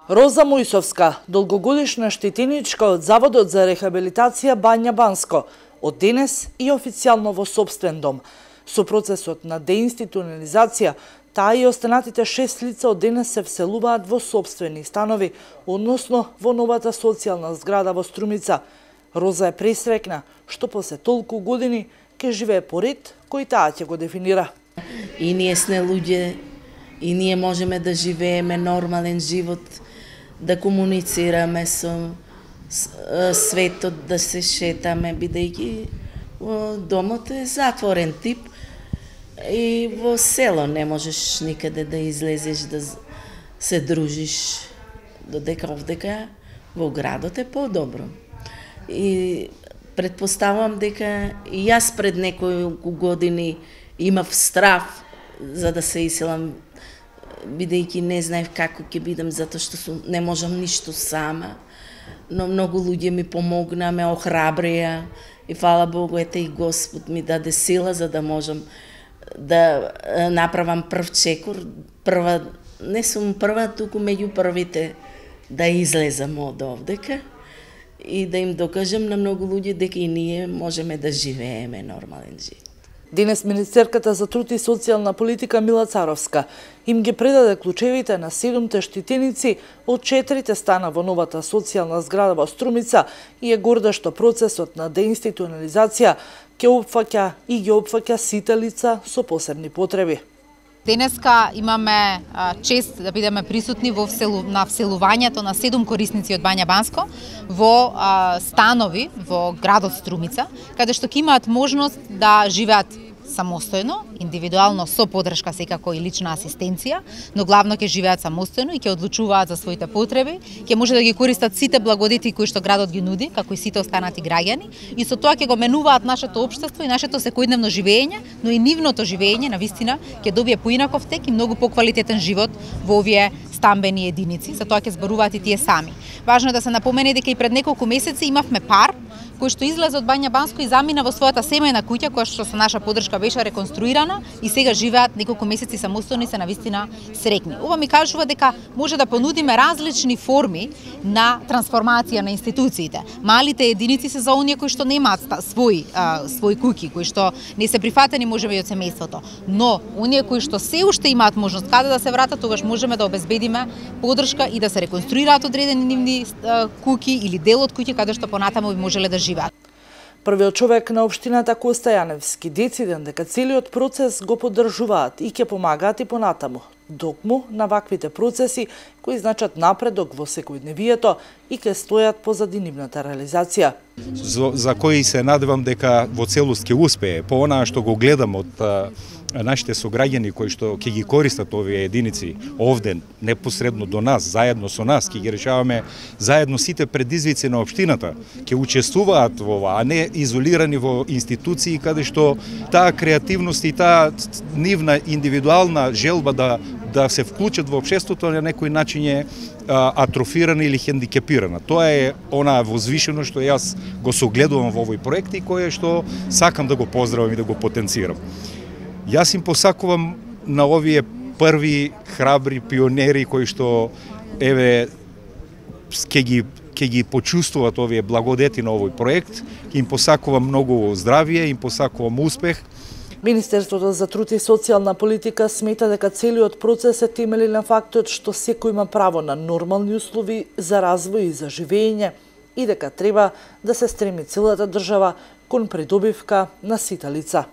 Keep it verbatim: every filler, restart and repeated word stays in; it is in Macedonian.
Роза Мојсовска, долгогодишна штетиничка од Заводот за рехабилитација Бања Банско, од денес и официјално во сопствен дом. Со процесот на деинституционализација, таа и останатите шест лица од денес се вселуваат во сопствени станови, односно во новата социјална зграда во Струмица. Роза е пресрекна што после толку години ќе живее по ред кој таа ќе го дефинира. И ние сме луѓе, и ние можеме да живееме нормален живот, да комуницираме со светот, да се шетаме, бидејќи домот е затворен тип и во село не можеш никаде да излезеш, да се дружиш, додека овдека во градот е подобро. И предпоставувам дека и јас пред неколку години имав страв за да се иселам, бидејќи не знаев како ќе бидам, затоа што сум, не можам ништо сама. Но многу луѓе ми помогнаа, ме охрабрија и фала Богу, ете и Господ ми даде сила за да можам да направам прв чекор. Прва, не сум прва, туку меѓу првите да излезам од овдека и да им докажам на многу луѓе дека и ние можеме да живееме нормален живот. Денес министерката за труд и социјална политика Мила Царовска им ги предаде клучевите на седумте штетеници од четирите стана во новата социјална зграда во Струмица и е горда што процесот на деинституционализација ќе опфаќа и ги опфаќа сите лица со посебни потреби. Денеска имаме чест да бидеме присутни во вселу, на вселувањето на седум корисници од Бања Банско во а, станови во градот Струмица, каде што ќе имаат можност да живеат самостојно, индивидуално со подршка секако и лична асистенција, но главно ќе живеат самостојно и ќе одлучуваат за своите потреби, ќе може да ги користат сите благодети кои што градот ги нуди, како и сите останати граѓани, и со тоа ќе го менуваат нашето општество и нашето секојдневно живење, но и нивното живење навистина ќе добие поинаков тек и многу поквалитетен живот во овие стамбени единици, за тоа ќе зборуваат и тие сами. Важно е да се напомене дека и пред неколку месеци имавме пар кој што излезе од Бања Банско и замина во својата семејна куќа, која што со наша подршка беше реконструирана и сега живеат неколку месеци самостојно и се навистина срекни. Ова ми кажува дека може да понудиме различни форми на трансформација на институциите. Малите единици се за оние кои што немаат свој а, свој куќи, кои што не се прифатени можеби од семејството, но оние кои што се уште имаат можност каде да се вратат, тогаш можеме да обезбедиме подршка и да се реконструираат одредени нивни а, куќи или дел од куќи каде што понатаму би можеле да живеат. Првиот човек на општината Коста Јаневски дециден дека целиот процес го поддржуваат и ќе помагаат и понатаму, докму на ваквите процеси кои значат напредок во секојдневието и ќе стојат позади нивната реализација. За, за кои се надевам дека во целост ќе успее, по онаа што го гледам од нашите сограѓани кои што ќе ги користат овие единици овде непосредно до нас, заедно со нас, ќе ги решаваме заедно сите предизвици на општината, ќе учествуваат во ова, а не изолирани во институции каде што таа креативност и таа нивна индивидуална желба да да се вклучат во општеството на некој начин е атрофирана или хендикепирана. Тоа е она возвишено што јас го согледувам во овој проект и кое што сакам да го поздравам и да го потенцирам. Јас им посакувам на овие први храбри пионери кои што еве ќе ги ќе ги почувствуваат овие благодети на овој проект, им посакувам многу здравје, им посакувам успех. Министерството за труд и социјална политика смета дека целиот процес е темели на фактот што секој има право на нормални услови за развој и за живење и дека треба да се стреми целата држава кон придобивка на сите лица.